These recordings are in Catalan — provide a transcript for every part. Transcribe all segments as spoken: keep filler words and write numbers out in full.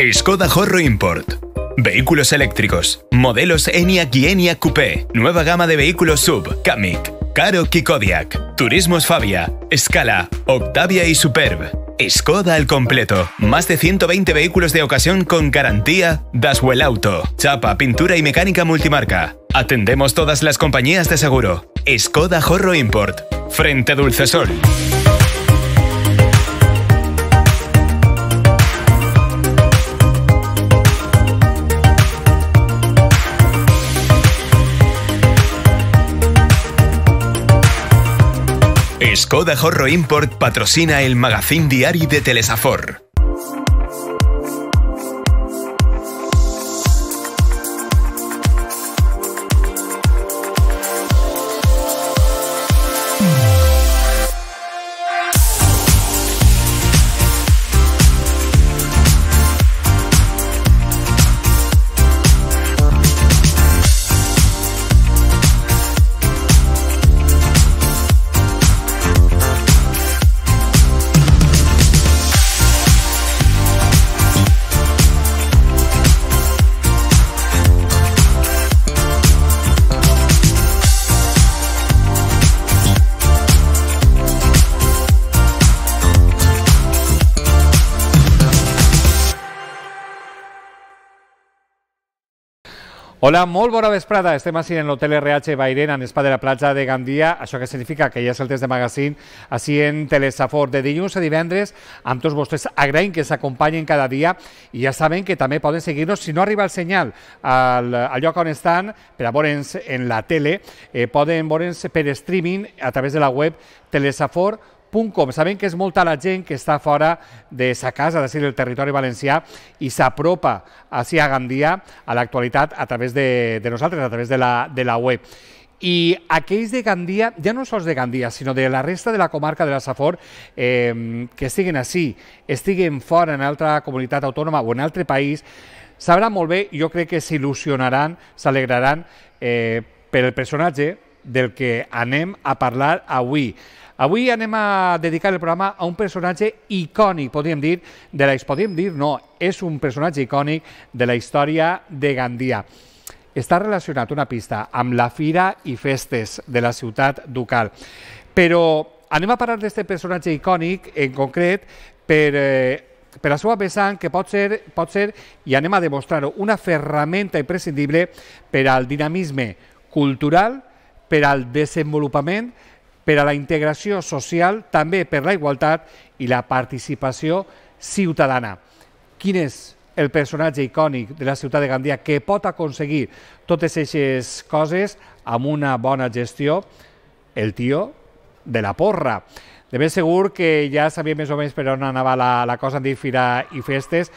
Skoda Horro Import. Vehículos eléctricos. Modelos Enyaq y Enyaq Coupé. Nueva gama de vehículos sub. Kamiq, Karoq y Kodiaq. Turismos Fabia, Scala, Octavia y Superb. Skoda al completo. Más de ciento veinte vehículos de ocasión con garantía Daswell Auto. Chapa, pintura y mecánica multimarca. Atendemos todas las compañías de seguro. Skoda Horro Import. Frente Dulcesol. Skoda Horro Import patrocina el magazín diari de Telesafor. Hola, molt bona vesprada. Estem així en l'Hotel R H Bairén, en Spa de la platja de Gandia. Això que significa que ja és el temps de magazín així en Telesafor. De dilluns a divendres, amb tots vostès agraïm que s'acompanyen cada dia i ja saben que també poden seguir-nos. Si no arriba el senyal al, al lloc on estan, per a veure'ns en la tele, eh, poden veure'ns per streaming a través de la web telesafor punt com. Sabem que és molta la gent que està fora de sa casa, és a dir, del territori valencià, i s'apropa així a Gandia a l'actualitat a través de, de nosaltres, a través de la, de la web. I aquells de Gandia, ja no sols de Gandia, sinó de la resta de la comarca de la Safor, eh, que estiguen així, estiguen fora en altra comunitat autònoma o en altre país, sabran molt bé, jo crec que s'il·lusionaran, s'alegraran eh, per el personatge del que anem a parlar avui. Avui anem a dedicar el programa a un personatge icònic, podríem dir, de la, podríem dir, no, és un personatge icònic de la història de Gandia. Està relacionat, una pista, amb la Fira i Festes de la ciutat ducal. Però anem a parlar d'aquest personatge icònic, en concret, per, eh, per la seva vessant, que pot ser, pot ser, i anem a demostrar-ho, una ferramenta imprescindible per al dinamisme cultural, per al desenvolupament, per a la integració social, també per la igualtat i la participació ciutadana. Quin és el personatge icònic de la ciutat de Gandia que pot aconseguir totes aquestes coses amb una bona gestió? El tio de la porra. De ben segur que ja sabia més o menys per on anava la, la cosa, en dir Fira i Festes.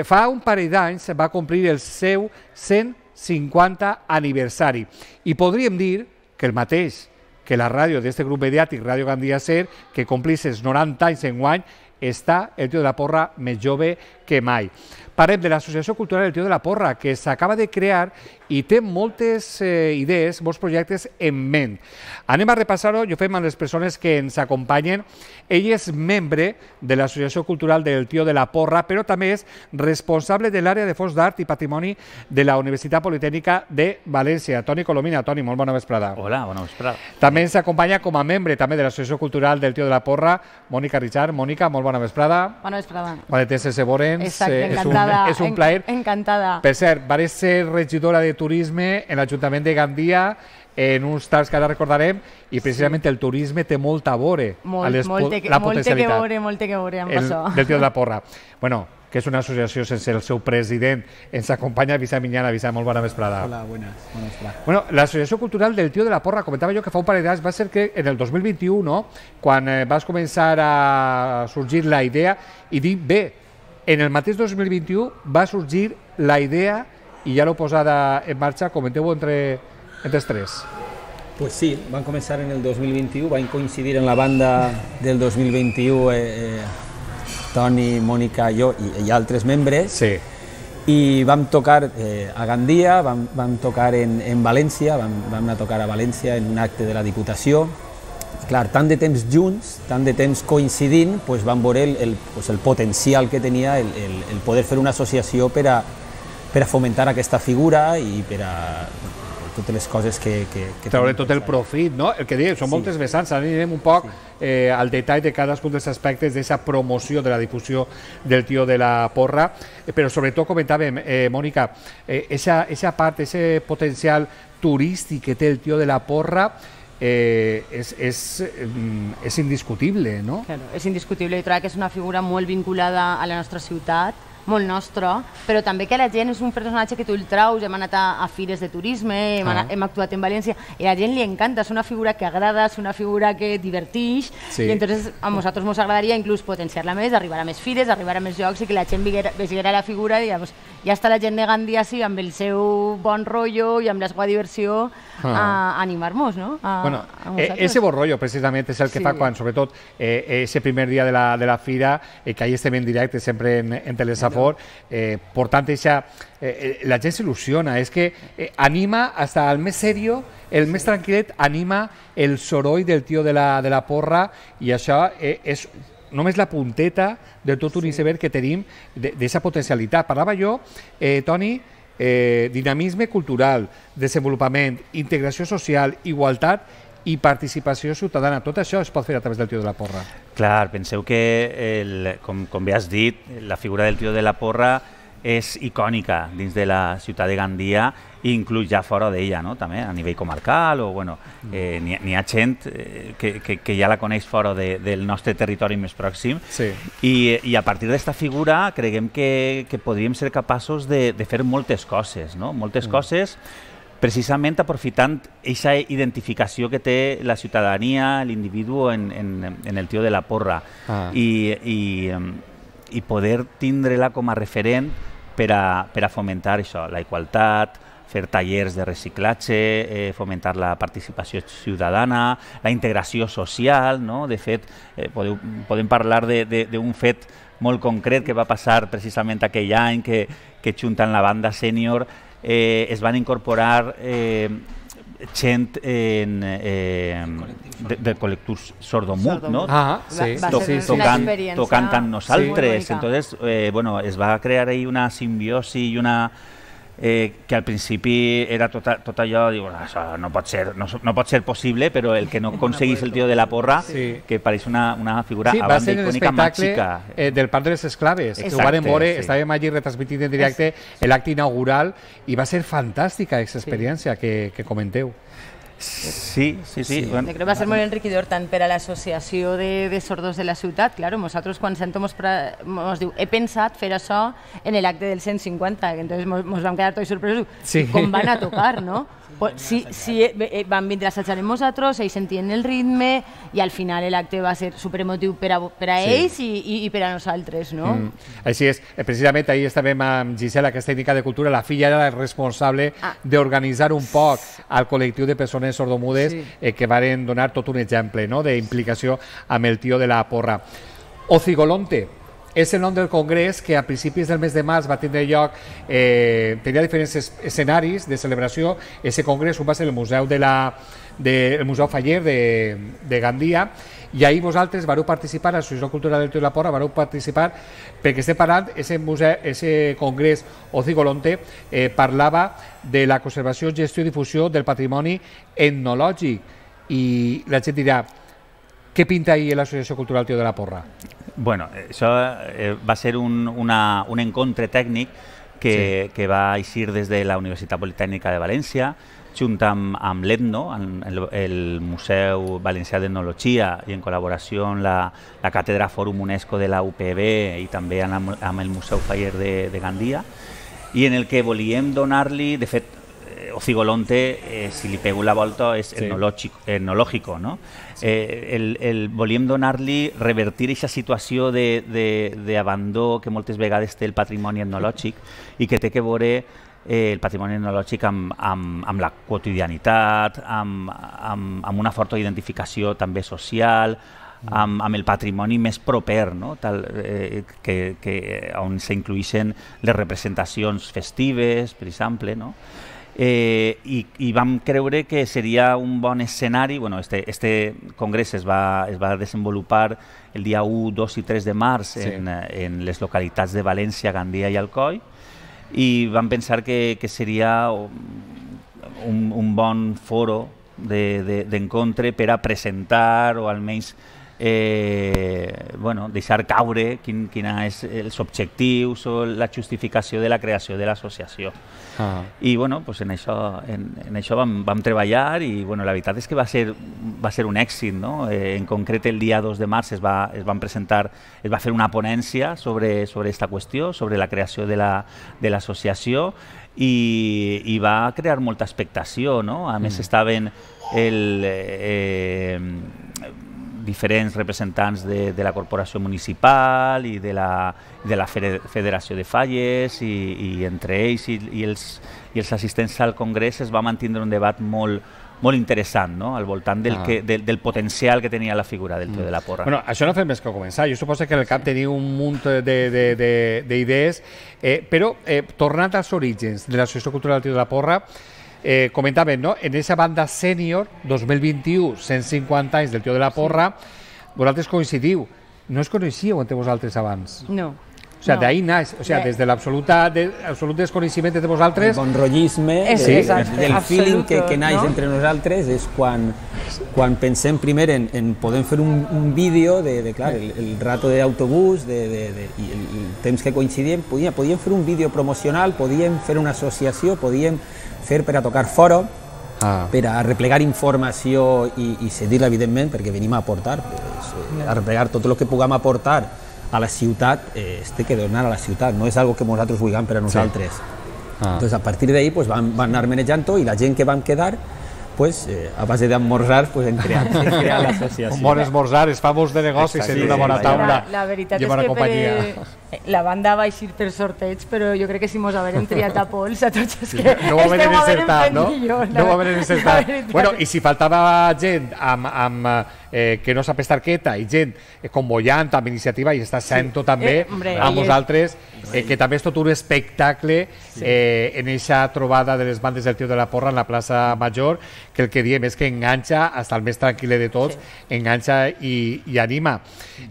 Fa un parell d'anys va complir el seu cent cinquanta aniversari i podríem dir que el mateix que la ràdio d'aquest grup mediàtic, Ràdio Gandia Ser, que complís els noranta anys enguany, està el tio de la porra més jove que mai. Parlem de l'Associació Cultural El Tio de la Porra, que s'acaba de crear i té moltes eh, idees, molts projectes en ment. Anem a repassar-ho i ho fem amb les persones que ens acompanyen. Ell és membre de l'Associació Cultural del Tio de la Porra, però també és responsable de l'àrea de Fons d'Art i Patrimoni de la Universitat Politècnica de València. Toni Colomina. Toni, molt bona vesprada. Hola, bona vesprada. També ens acompanya com a membre també de l'Associació Cultural del Tio de la Porra, Mònica Richard. Mònica, molt bona vesprada. Bona vesprada. Bona vesprada, Seborens. Exacte, encantada. És un plaer. Encantada. Per cert, varés ser regidora de turisme en l'Ajuntament de Gandia en uns tals que ara recordarem, i precisament el turisme té molt a veure Molt, a les, molt, la molt que potencialitat veure, molt que veure amb el, això. del Tio de la Porra. Bueno, que és una associació sense el seu president. Ens acompanya Vicent Minyana. Vicent, molt bona vesprada. Hola, buenas. Bona vesprada. Bueno, l'Associació Cultural del Tio de la Porra, comentava jo que fa un parell d'anys, va ser que en el dos mil vint-i-u, no? Quan eh, vas començar a sorgir la idea, i dic bé, en el mateix dos mil vint-i-u va sorgir la idea i ja l'heu posada en marxa. Comenteu-ho entre, entre els tres. Pues sí, van començar en el dos mil vint-i-u, van coincidir en la banda del dos mil vint-i-u eh, eh, Toni, Mònica, jo i, i altres membres. Sí. I vam tocar eh, a Gandia, vam, vam tocar en, en València, vam, vam anar a tocar a València en un acte de la Diputació, clar, tant de temps junts, tant de temps coincidint, pues van veure el, el, pues el potencial que tenia el, el, el poder fer una associació per a, per a fomentar aquesta figura i per a totes les coses que... que, que treure tot el profit, no? El que diem, són sí. moltes vessants, ara anirem un poc sí. eh, al detall de cadascun dels aspectes d'aquesta promoció de la difusió del tio de la porra, eh, però sobretot comentàvem, eh, Mònica, eh, esa, esa part, ese potencial turístic que té el tio de la porra eh, és, és, és indiscutible, no? Claro, és indiscutible, i trobo que és una figura molt vinculada a la nostra ciutat, molt nostre, però també que la gent és un personatge que tu el traus, hem anat a, a fires de turisme, hem, anat, hem actuat en València, i a la gent li encanta, és una figura que agrada, és una figura que divertix, sí. i entonces a nosaltres ens agradaria inclús potenciar-la més, arribar a més fires, arribar a més llocs i que la gent veiera la figura i digamos, ja està la gent de Gandia sí, amb el seu bon rotllo i amb la seva diversió ah. a, a animar-nos, no? A, bueno, a ese bon rotllo precisament és el que sí. fa quan, sobretot, eh, ese primer dia de la, de la fira, eh, que ahí estem en directe sempre en, en Telesafor, Eh, por tanto esa, eh, la gent s'il·lusiona, és que eh, anima hasta el més serio, el més tranquil·let, anima el soroll del tio de la, de la porra, i això eh, és només la punteta de tot un iceberg que tenim d'aquesta potencialitat. Parlava jo, eh, Toni, eh, dinamisme cultural, desenvolupament, integració social, igualtat i participació ciutadana. Tot això es pot fer a través del tio de la porra. Clar, penseu que, el, com, com bé has dit, la figura del tio de la porra és icònica dins de la ciutat de Gandia i inclús ja fora d'ella, no? També a nivell comarcal, o bueno, eh, n'hi ha gent eh, que, que, que ja la coneix fora de, del nostre territori més pròxim, sí. I, i a partir d'esta figura creguem que, que podríem ser capaços de, de fer moltes coses, no? Moltes mm. coses precisament aprofitant aquesta identificació que té la ciutadania, l'individu en, en, en el tio de la porra, ah. I, i, i poder tindre-la com a referent per a, per a fomentar això, la igualtat, fer tallers de reciclatge, eh, fomentar la participació ciutadana, la integració social, no? De fet, eh, podeu, podem parlar d'un fet molt concret que va passar precisament aquell any, que, que juntant la banda sènior Eh, es van incorporar eh, gent en, eh, de, de col·lectiu sordomut, no? Ah, sí. Va, va to, ser tocant, una tocant amb nosaltres. Sí. Entonces, eh, bueno, es va crear ahí una simbiosi i una... Eh, que al principi era tot, tot allò, diu, això no pot ser, no, no pot ser possible, però el que no aconseguís el tio de la porra, sí. que pareix una, una figura sí, a banda icònica màgica. Eh, del Parc de les Esclaves, exacte, que ho van veure, sí. Estàvem allí retransmitint en directe l'acte inaugural i va ser fantàstica aquesta experiència sí. que, que comenteu. Sí, sí, sí. sí. Bueno. Crec que va ser molt enriquidor tant per a l'associació de, de sordos de la ciutat. Claro, nosaltres quan sentem ens diu, he pensat fer això en l'acte del cent cinquanta, que entonces ens vam quedar tots sorpresos sí. com van a tocar, no? Pues, sí, sí, van vindre a assajar amb nosaltres, ells sentien el ritme i al final l'acte va ser superemotiu per a, per a sí. ells i, i, i per a nosaltres, no? Mm. Així és. Precisament ahir estàvem amb Gisela, que és tècnica de cultura, la filla era la responsable ah. d'organitzar un poc al col·lectiu de persones sordomudes sí. eh, que varen donar tot un exemple, no?, d'implicació amb el tio de la porra. Ocigolonte és el nom del congrés que a principis del mes de març va tindre lloc, eh, tenia diferents escenaris de celebració. Aquest congrés va ser el Museu de la, de, el Museu Faller de, de Gandia, i ahir vosaltres vareu participar, l'Associació Cultural del Tio de la Porra, vareu participar, perquè estem parlant, aquest congrés Ocigolonte eh, parlava de la conservació, gestió i difusió del patrimoni etnològic, i la gent dirà, què pinta ahir l'Associació Cultural Tio de la Porra? Bueno, això eh, va ser un, una, un encontre tècnic que, sí. que va eixir des de la Universitat Politècnica de València, junt amb, amb l'Etno, el, el Museu Valencià d'Etnologia, i en col·laboració amb la, la Càtedra Fòrum UNESCO de la U P B i també amb, amb el Museu Faller de, de Gandia, i en el que volíem donar-li, de fet, Ocigolonte, eh, si li pego la volta, és sí. etnològico, no? Sí. Eh, el, el, volíem donar-li, revertir aquesta situació d'abandó que moltes vegades té el patrimoni etnològic i que té que veure eh, el patrimoni etnològic amb, amb, amb la quotidianitat, amb, amb, amb una forta identificació també social, amb, amb el patrimoni més proper, no? Tal, eh, que, que, on s'incluïxen les representacions festives, per exemple, no? Eh, i, i vam creure que seria un bon escenari. Bueno, este, este congrés es va, es va desenvolupar el dia u, dos i tres de març sí. en, en les localitats de València, Gandia i Alcoi, i vam pensar que, que seria un, un bon foro d'encontre de, de, per a presentar o almenys eh, bueno, deixar caure quin, quina és els objectius o la justificació de la creació de l'associació. Ah. I bueno, pues en això, en, en això vam, vam treballar i bueno, la veritat és que va ser, va ser un èxit, no? Eh, en concret el dia dos de març es va, es van presentar, es va fer una ponència sobre, sobre esta qüestió, sobre la creació de l'associació i, i va crear molta expectació, no? A més mm. estaven el... Eh, diferents representants de, de la corporació municipal i de la, de la Federació de Falles i, i entre ells i, i, els, i els assistents al congrés es va mantindre un debat molt, molt interessant, no? Al voltant del, ah. que, del, del potencial que tenia la figura del Tio de la Porra. Bueno, això no fem més que començar. Jo suposo que en el cap teniu un munt d'idees, eh, però eh, tornant als orígens de l'Associació Cultural del Tio de la Porra, Eh, comentaven, no? En aquesta banda sènior, dos mil vint-i-u, cent cinquanta anys del Tio de la Porra, sí. Vosaltres coincidiu. No es coneixíeu entre vosaltres abans? No. O sea, no. D'ahí naix, o sea, de... des de l'absolut de, desconeixement de vosaltres... El bon rotllisme, sí. de, del feeling que, que naix no? entre nosaltres és quan, quan pensem primer en, en podem fer un, un vídeo de, de clar, el, el rato d'autobús de, de, de, i el, el temps que coincidíem, podíem, podíem fer un vídeo promocional, podíem fer una associació, podíem fer per a tocar foro, ah. per a replegar informació i, i cedir-la, evidentment, perquè venim a aportar, pues, eh, a replegar tot el que puguem aportar a la ciutat, eh, este que donar a la ciutat, no és algo que nosaltres vulguem per a nosaltres. Sí. Ah. Entonces, a partir d'ahí pues, van, van anar manejant-ho i la gent que van quedar, pues, eh, a base d'esmorzar, pues, hem creat, creat l'associació. Un bon esmorzar, és famós de negocis, en una bona taula. La, la veritat és que per, la banda va eixir per sorteig, però jo crec que si mos haverem triat a pols a tots els que no ho haverem encertat, no? No ho haverem encertat. Bueno, i si faltava gent amb, amb, eh, que no sap estar quieta i gent eh, com Bollant, amb iniciativa, i està sent tot també eh, hombre, amb vosaltres, eh, que també és tot un espectacle eh, en aquesta trobada de les bandes del Tio de la Porra en la plaça Major, que el que diem és que enganxa, hasta el més tranquil de tots, sí. enganxa i, i anima.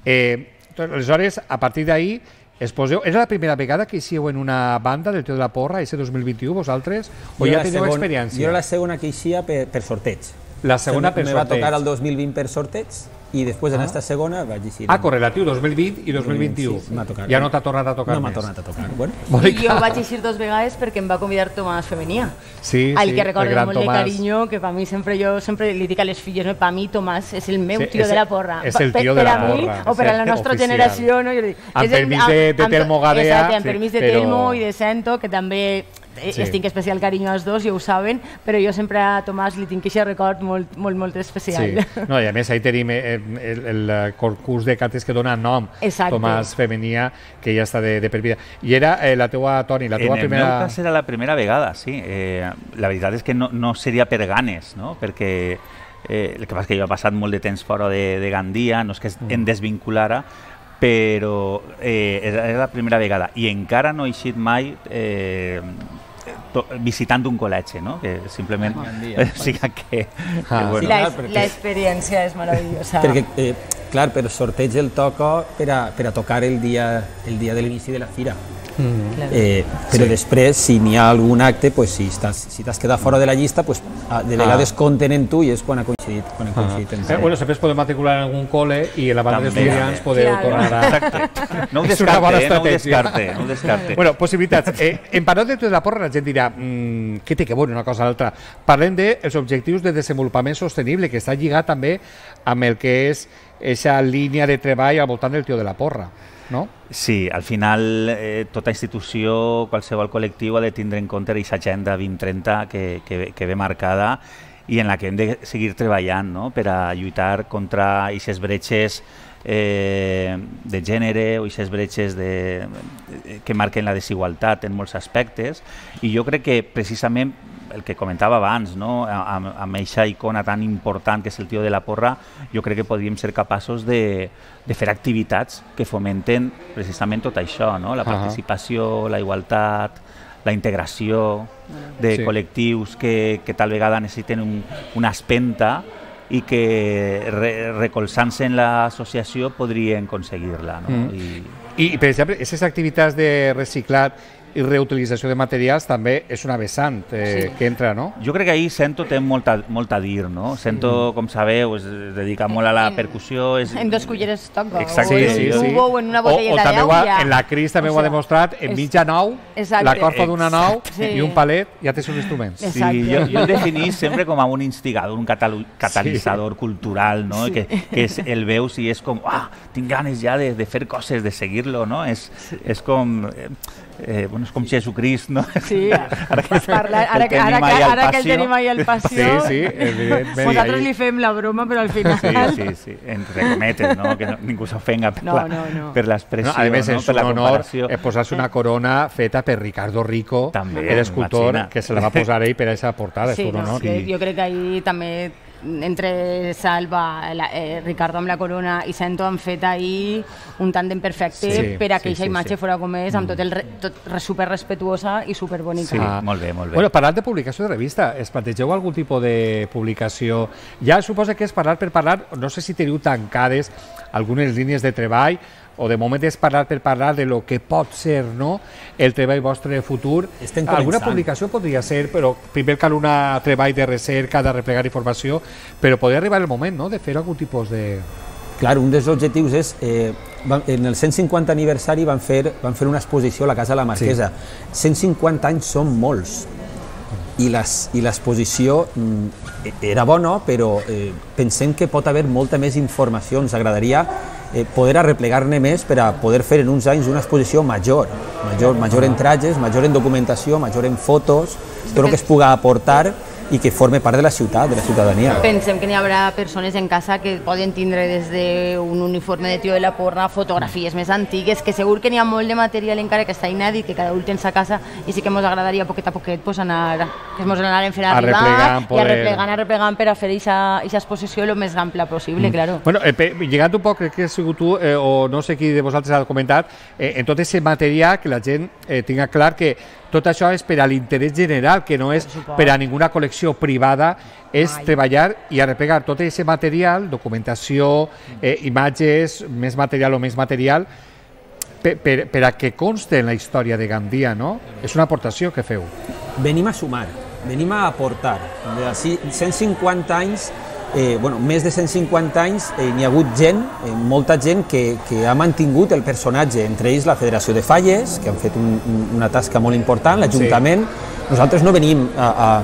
Eh, aleshores, a partir d'ahí, es poseu, era la primera vegada que hicíeu en una banda del Tio de la Porra, ese dos mil vint-i-u, vosaltres? O ja teniu experiència? Jo era la segona que eixia per, per sorteig. La segona per sorteig. Me va tocar el dos mil vint per sorteig i després ah. en esta segona vaig eixir. Ah, correlatiu, dos mil vint i dos mil vint-i-u. Sí, m'ha tocat. Ja no t'ha tornat a tocar no més? No m'ha tornat a tocar. Bueno. I jo vaig eixir dos vegades perquè em va convidar Tomàs Femenia. Sí, al sí, que recordo molt Tomàs. de carinyo, que per mi sempre jo sempre li dic a les filles, no, per mi Tomàs és el meu sí, tio és, de la porra. És el tio de la porra. Per a mi, o per a la nostra oficial. generació, no? Jo dic, amb permís de, de Telmo Gadea. Exacte, amb permís de però... Telmo i de Sento, que també sí. estic especial carinyo als dos, ja ho saben, però jo sempre a Tomàs li tinc aquest record molt, molt, molt especial. Sí. No, i a més, ahí tenim el, el, el concurs de cantes que dona nom, exacte. Tomàs Femenia, que ja està de, de per vida. I era eh, la teua, Toni, la teua en primera... En el meu cas era la primera vegada, sí. Eh, la veritat és que no, no seria per ganes, no? Perquè eh, el que passa és que jo he passat molt de temps fora de, de Gandia, no és que em desvinculara, però eh, era la primera vegada i encara no he eixit mai eh, to, visitant un col·legi, no? Que simplement o sigui que, ah, que bueno. L'experiència és meravellosa. Perquè, eh, clar, per sorteig el toca per a, per a tocar el dia, el dia de l'inici de la fira. Mm. Eh, però sí. després, si n'hi ha algun acte, pues, si t'has si quedat fora de la llista, pues, de vegades ah. compten en tu i és quan ha coincidit. Quan ha coincidit ah. eh, bueno, sempre es podeu matricular en algun col·le i en la banda d'estudiants podeu claro. tornar a... Exacte. No ho descarte, eh? no ho descarte. No ho descarte. Bueno, possibilitats. Eh, en parlant de Tio de la Porra, la gent dirà mmm, què té que veure una cosa a l'altra. Parlem dels objectius de desenvolupament sostenible, que està lligat també amb el que és aquesta línia de treball al voltant del Tio de la Porra. No? Sí, al final eh, tota institució, qualsevol col·lectiu ha de tindre en compte aquesta agenda vint trenta que, que, que ve marcada i en la que hem de seguir treballant, no? Per a lluitar contra aquestes bretxes eh, de gènere o aquestes bretxes de, que marquen la desigualtat en molts aspectes i jo crec que precisament el que comentava abans, no? amb, amb aquesta icona tan important que és el Tio de la Porra, jo crec que podríem ser capaços de, de fer activitats que fomenten precisament tot això, no? La participació, la igualtat, la integració de Sí. col·lectius que, que tal vegada necessiten un, una espenta i que re, recolzant-se en l'associació podrien aconseguir-la. No? Mm. I, I, per exemple, aquestes activitats de reciclat i reutilització de materials també és una vessant eh, Sí. que entra, no? jo crec que ahir Sento té molta, molt a dir, no? Sento, com sabeu, es dedica molt a la En- percussió. És, En dos culleres toca, Exacte, o en sí, un sí. tubo o en una O, botelleta o també d'au. ho ha, ja. en la Cris també O ho ha sea, demostrat, en és- mitja nau, Exacte. la corfa d'una nau Sí. i un palet, ja tens uns instruments. És- Sí, Exacte. jo, jo el definís sempre com a un instigador, un catalu- catalitzador cultural, no? Sí. Que, que és, el veus i és com, ah, tinc ganes ja de, de fer coses, de seguir-lo, no? És, és com... Eh, eh, bueno, és com Jesucrist, no? Sí, Ara que- parla, ara, el que, ara, tenim que, ahí al ara que el passió. tenim ahí al passió, Sí, sí, evidentment. nosaltres Ahí- li fem la broma, però al final... Sí, sí, sí, entre cometes, no? Que no, ningú s'ofenga per No, la- no, no. per l'expressió, No, a més, no? és Per un la honor comparació. eh, posar-se una corona feta per Ricardo Rico, També, l'escultor, imagina. que se la va posar ell per a aquesta portada, Sí, és un no, honor. que jo crec que ahir també entre Salva, la, eh, Ricardo amb la corona i Sento han fet ahir un tàndem perfecte Sí, per a sí, que aquesta sí, imatge sí. fora com és, amb tot el re, tot re, super respetuosa i super bonica. Sí, molt bé, molt bé. Bueno, parlant de publicació de revista, es plantegeu algun tipus de publicació? Ja suposa que és parlar per parlar, no sé si teniu tancades algunes línies de treball, o de moment és parlar per parlar de lo que pot ser, no?, el treball vostre futur. Estem Alguna començant. publicació podria ser, però primer cal un treball de recerca, de replegar informació, però podria arribar el moment, no?, de fer algun tipus de... Clar, un dels objectius és, eh, van- en el cent cinquanta aniversari van fer, van fer una exposició a la Casa de la Marquesa. cent cinquanta anys són molts, i les- i l'exposició mm, era bona, però eh, pensem que pot haver molta més informació. Ens agradaria eh, poder arreplegar-ne més per a poder fer en uns anys una exposició major, major, major en trajes, major en documentació, major en fotos, tot el que es puga aportar i que forme part de la ciutat, de la ciutadania. Pensem que n'hi haurà persones en casa que poden tindre des d'un uniforme de tio de la porra, fotografies més antigues, que segur que n'hi ha molt de material encara que està inèdit, que cada un tens a casa, i sí que ens agradaria poquet a poquet pues, anar, que ens anaren fent arribar Arreplegant, i poder- arreplegant, arreplegant per a fer aquesta exposició el més ampla possible, mm. claro. Bueno, eh, pe- llegant un poc, crec que has sigut tu, eh, o no sé qui de vosaltres ha comentat, eh, en tot aquest material que la gent eh, tinga clar que tot això és per a l'interès general, que no és suposo. per a ninguna col·lecció privada, és Ai. treballar i arreplegar tot aquest material, documentació, eh, imatges, més material o més material, per, per, per a que conste en la història de Gandia, no? És una aportació que feu. Venim a sumar, venim a aportar. De així, cent cinquanta anys, eh, bueno, més de cent cinquanta anys, eh, n'hi ha hagut gent, eh, molta gent que, que ha mantingut el personatge, entre ells la Federació de Falles, que han fet un, un, una tasca molt important, l'Ajuntament. Sí. Nosaltres no venim a, a,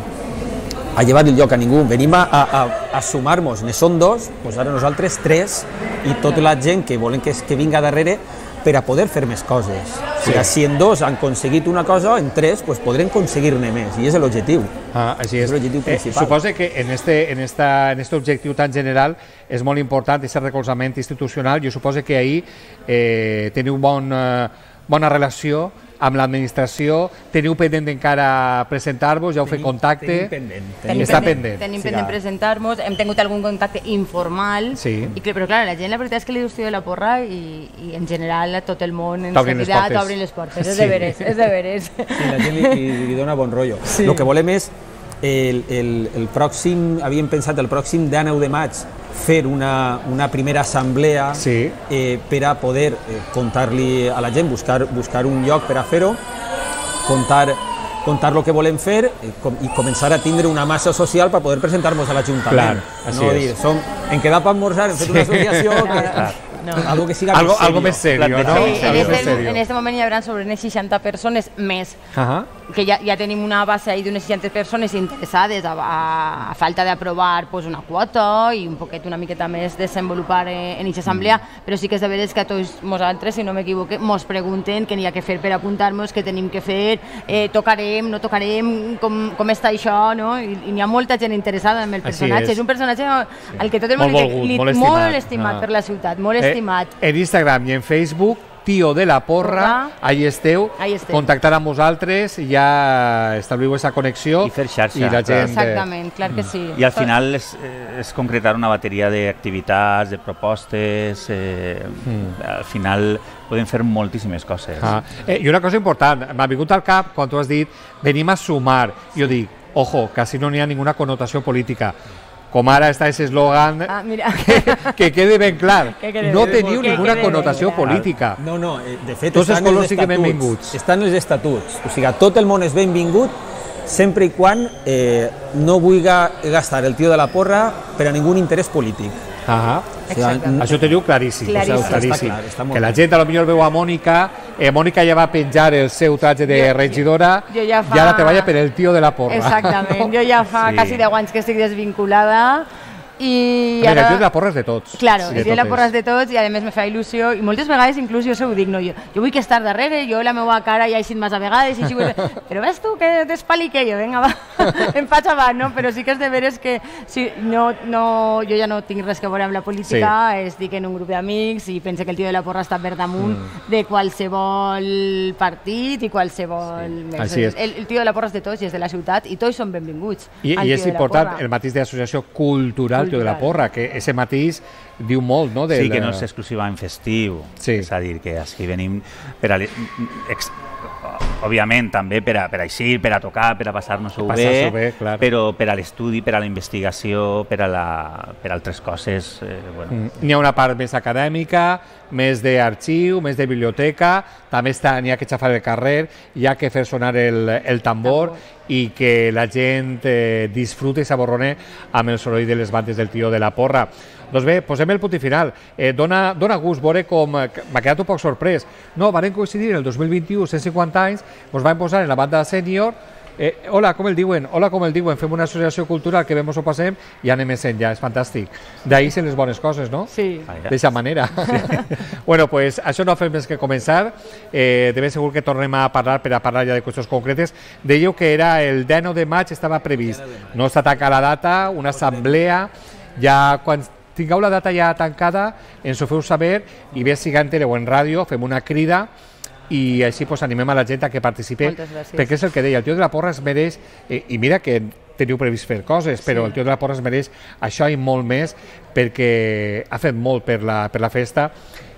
a llevar el lloc a ningú, venim a, a, a, a sumar-nos, ne són dos, doncs ara nosaltres tres, i tota la gent que volen que, que vinga darrere, per a poder fer més coses. Sí. Si en dos han aconseguit una cosa, en tres pues, podrem aconseguir-ne més, i és l'objectiu. Ah, així és. És l'objectiu principal. Eh, suposa que en este, en, esta, en este objectiu tan general és molt important aquest recolzament institucional. Jo suposo que ahir eh, teniu bon, eh, bona relació amb l'administració, teniu pendent encara presentar-vos, ja heu fet contacte. Tenim pendent. Tenim Està pendent, pendent. Tenim Sí, pendent clar. presentar-nos, hem tingut algun contacte informal, Sí. i, que- però clar, la gent la veritat és que li dius tio de la porra i, i en general a tot el món en T'obrin les seguida portes. t'obrin les portes, és Sí. de veres, és de veres. I la gent li, li, li dona bon rotllo. Sí. El que volem és, el, el, el pròxim, havíem pensat el pròxim dinou de maig fer una, una primera assemblea Sí. eh, per a poder eh, contar-li a la gent, buscar, buscar un lloc per a fer-ho, contar, contar el que volem fer eh, com, i començar a tindre una massa social per poder presentar-nos a l'Ajuntament. Clar, així no és. dir, som, hem quedat per almorzar, hem fet una associació, que, No. algo que siga Algo, més algo serio. més serio, no? Plantejar- Sí, en, Algo més este, serio. en este moment hi haurà sobre unes seixanta persones més, Ajá. que ja, ja tenim una base ahí d'unes seixanta persones interessades a, a, a falta d'aprovar pues, una quota i un poquet una miqueta més desenvolupar eh, en aquesta assemblea, mm. però sí que és de veres que a tots nosaltres, si no m'equivoque, mos pregunten què n'hi ha que fer per apuntar-nos, què tenim que fer, eh, tocarem, no tocarem, com, com està això, no? I, i n'hi ha molta gent interessada en el Així personatge. és. És un personatge al que tot el Molt món li, volgut, li, molt molt estimat. estimat Ah. per la ciutat, molt estimat. Eh, en Instagram i en Facebook Tio de la Porra, ahí esteu, contactar amb vosaltres, ja establiu aquesta connexió i fer xarxa. I la gent... Exactament, clar que sí. I al final és, és concretar una bateria d'activitats, de propostes, eh, mm. al final podem fer moltíssimes coses. Ah. Eh, I una cosa important, m'ha vingut al cap quan tu has dit venim a sumar, jo dic, ojo, quasi no n'hi ha ninguna connotació política. Com ara està aquest eslògan, ah, que, que quede ben clar, que quede no ben teniu que ninguna quede connotació ben política. No, no, de fet tots els estan colors els sí que estatuts, benvinguts. Estan els estatuts, o sigui, tot el món és benvingut sempre i quan eh, no vulgui gastar el tio de la porra per a ningú interès polític. Ah, o sigui, això ho teniu claríssim, claríssim. O sigui, claríssim. Està clar, està que la clar. gent a lo millor veu a Mònica, eh, Mònica ja va penjar el seu traje de jo, regidora jo ja fa... i ara treballa per el tio de la porra. Exactament, jo ja fa Sí. quasi deu anys que estic desvinculada i A veure, ara... el tio de la porra és de tots. Claro, Sí, el tio de la porra és de tots i a més me fa il·lusió i moltes vegades inclús jo se ho dic, no, jo, jo vull que estar darrere, jo la meva cara ja he eixit massa vegades i així vull... però ves tu que t'espalique jo, vinga va, em faig avant, no? Però sí que és de veres que si, no, no, jo ja no tinc res que veure amb la política, sí. Estic en un grup d'amics i pense que el tio de la porra està per damunt mm. de qualsevol partit i qualsevol... Sí. Així és. El, el tio de la porra és de tots i és de la ciutat i tots són benvinguts. I, i és important el matís d'associació cultural tio de la porra, que ese matís diu molt, no? Sí, que no és exclusivament festiu, sí. És a dir, que així venim per a... Ex, òbviament també per a, per a eixir, per a tocar, per a passar-nos-ho bé, bé clar. Però per a l'estudi, per a la investigació, per a, la, per a altres coses... Eh, bueno. Mm. N'hi ha una part més acadèmica, més d'arxiu, més de biblioteca, també està, n'hi ha que xafar el carrer, hi ha que fer sonar el, el tambor, tambor i que la gent eh, disfrute i s'aborrone amb el soroll de les bandes del tio de la porra. Doncs bé, posem el punt i final. Eh, dona, dona gust veure com... M'ha quedat un poc sorprès. No, van coincidir el dos mil vint-i-u, cent cinquanta anys, ens van posar en la banda sènior. Eh, hola, com el diuen? Hola, com el diuen? Fem una associació cultural que vemos o passem i anem més enllà, és fantàstic. D'ahí se les bones coses, no? Sí. D'aquesta manera. Sí. Bueno, pues això no fem més que començar. Eh, de ben segur que tornem a parlar per a parlar ja de qüestions concretes. Dèieu que era el dinou de maig, estava previst. No està tancada la data, una assemblea, ja quan tingueu la data ja tancada, ens ho feu saber i bé si en tele o en ràdio, fem una crida i així pues, animem a la gent a que participi, perquè és el que deia, el tio de la porra es mereix, eh, i mira que teniu previst fer coses, però sí. El tio de la porra es mereix això i molt més, perquè ha fet molt per la, per la festa,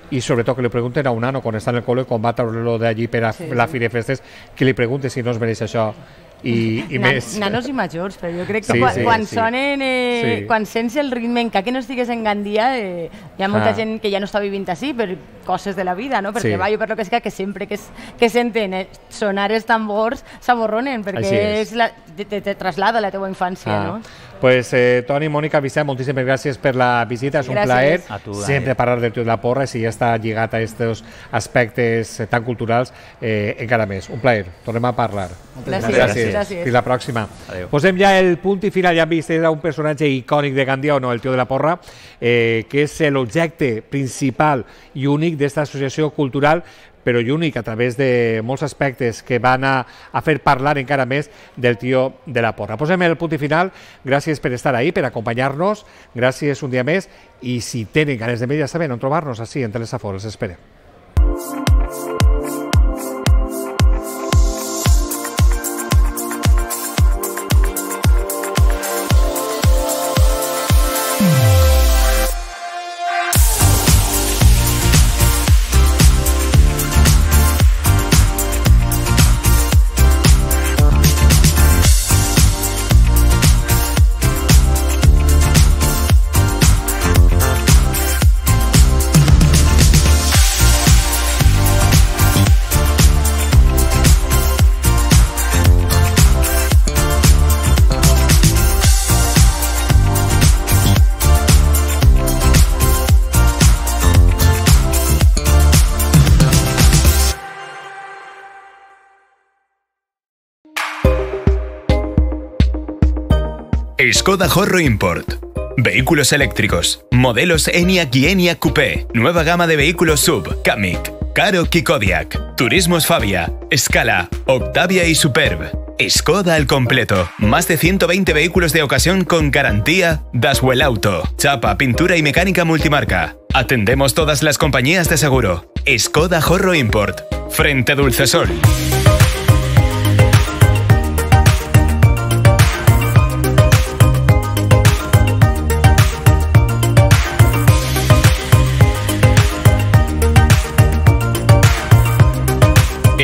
i sobretot que li pregunten a un nano quan està en el col·le, quan va treure-lo d'allí per a sí, la sí. Fira de Festes, que li pregunte si no es mereix això. I, i Na, més... nanos i majors, però jo crec que sí, quan, sí, quan sí. sonen, eh, sí. quan sents el ritme, encara que no estigues en Gandia, eh, hi ha molta ah. gent que ja no està vivint així per coses de la vida, no? per sí. treball o per lo que sigui, que sempre que, es, que senten eh, sonar els tambors s'aborronen, perquè és. És la, te, te, te traslada a la teva infància, ah. no? Pues eh, Toni, Mònica, Vicent, moltíssimes gràcies per la visita, és un plaer tu, sempre parlar del tio de la porra, si ja està lligat a aquests aspectes tan culturals, eh, encara més. Un plaer, tornem a parlar. Gràcies. Gràcies. gràcies. Fins la pròxima. Adéu. Posem ja el punt i final, ja hem vist, era un personatge icònic de Gandia o no, el tio de la porra, eh, que és l'objecte principal i únic d'esta associació cultural, però i únic a través de molts aspectes que van a, a fer parlar encara més del tio de la porra. Posem el punt i final, gràcies per estar ahí, per acompanyar-nos, gràcies un dia més, i si tenen ganes de més, ja saben on trobar-nos, així, en Telesafor, els esperem. Skoda Horro Import. Vehículos eléctricos. Modelos ENIAC y ENIAC Coupé. Nueva gama de vehículos sub. Kamiq, Karoq y Kodiaq. Turismos Fabia, Scala, Octavia y Superb. Skoda al completo. Más de ciento veinte vehículos de ocasión con garantía Daswell Auto. Chapa, pintura y mecánica multimarca. Atendemos todas las compañías de seguro. Skoda Jorro Import. Frente Dulcesol.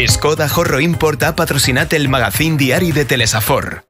Skoda Jorro Import ha patrocinat el magazín diari de Telesafor.